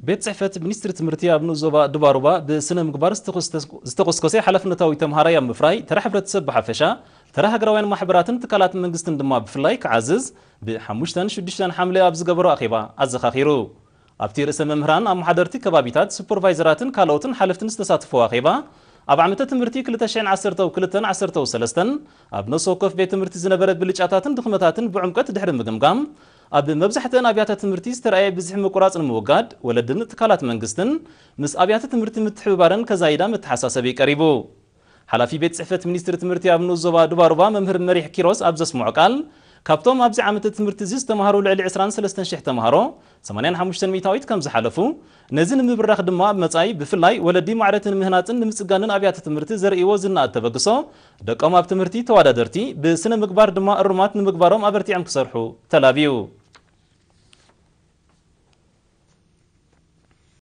ቤት ጽሕፈት ሚኒስትሪ ትምህርቲ ኣብ ንኡስ ዞባ ዱባሩባ ብስነ ምግባር ዝተኾስተ-፣ ዝተኾስኮሰ ሓላፍነታዊ ተምሃራይ ኣብ ምፍራይ ተራ ሕብረተሰብ ብሓፈሻ፣ ተራ ሃገራውያን ማሕበራትን ትካላት መንግስትን ድማ ብፍላይ ክዓዝዝ ብሓሙሽተን ሽዱሽተን ሓምለ ኣብ ዝገበሮ ኣኼባ ኣዘኻኺሩ። ኣብቲ ርእሰ መምህራን፣ ኣመሓደርቲ ከባቢታት፣ ሱፐርቫይዘራትን ካልኦትን ሓለፍትን ዝተሳተፍዎ ኣኼባ፣ ኣብ ዓመተ ትምህርቲ ክልተ ሽሕን ዓሰርተው ክልተን ዓሰርተው ሰለስተን ኣብ ነፍሲ ወከፍ ቤት ትምህርቲ ዝነበረ ብልጫታትን ድኽመታትን ብዕምቀት ድሕሪ ምግምጋም፣ ኣብ መብዛሕትአን ኣብያተ ትምህርቲ ዝተረኣየ ብዝሒ ምቁራጽ ንምውጋድ፣ ወለድን ትካላት መንግስትን ምስ ኣብያተ ትምህርቲ ምትሕብባረን ከዛይዳ መተሓሳሰቢ ቀሪቡ። ሓላፊ ቤት ጽሕፈት ሚኒስትሪ ትምህርቲ ኣብ ንኡስ ዞባ ዱባሩባ መምህር መሪሕ ኪሮስ ኣብ ዘስምዖ ቃል፣ ካብቶም ኣብዚ ዓመተ ትምህርቲ እዚ ዝተምሃሩ ልዕሊ ዕስራን ሰለስተን ሽሕ ተምሃሮ፣ ሰማንያን ሓሙሽተን ሚእታዊት ከም ዝሓለፉ፣ ነዚ ንምብራኽ ድማ ኣብ መጻኢ ብፍላይ ወለዲ ማዕረቲ ንምህናጽን ንምጽጋንን ኣብያተ ትምህርቲ ዘርእይዎ ዝነኣድ ተበግሶ፣ ደቆም ኣብ ትምህርቲ ተወዳደርቲ፣ ብስነ ምግባር ድማ እሩማት ንምግባሮም ኣበርቲዖም ክሰርሑ ተላብዩ።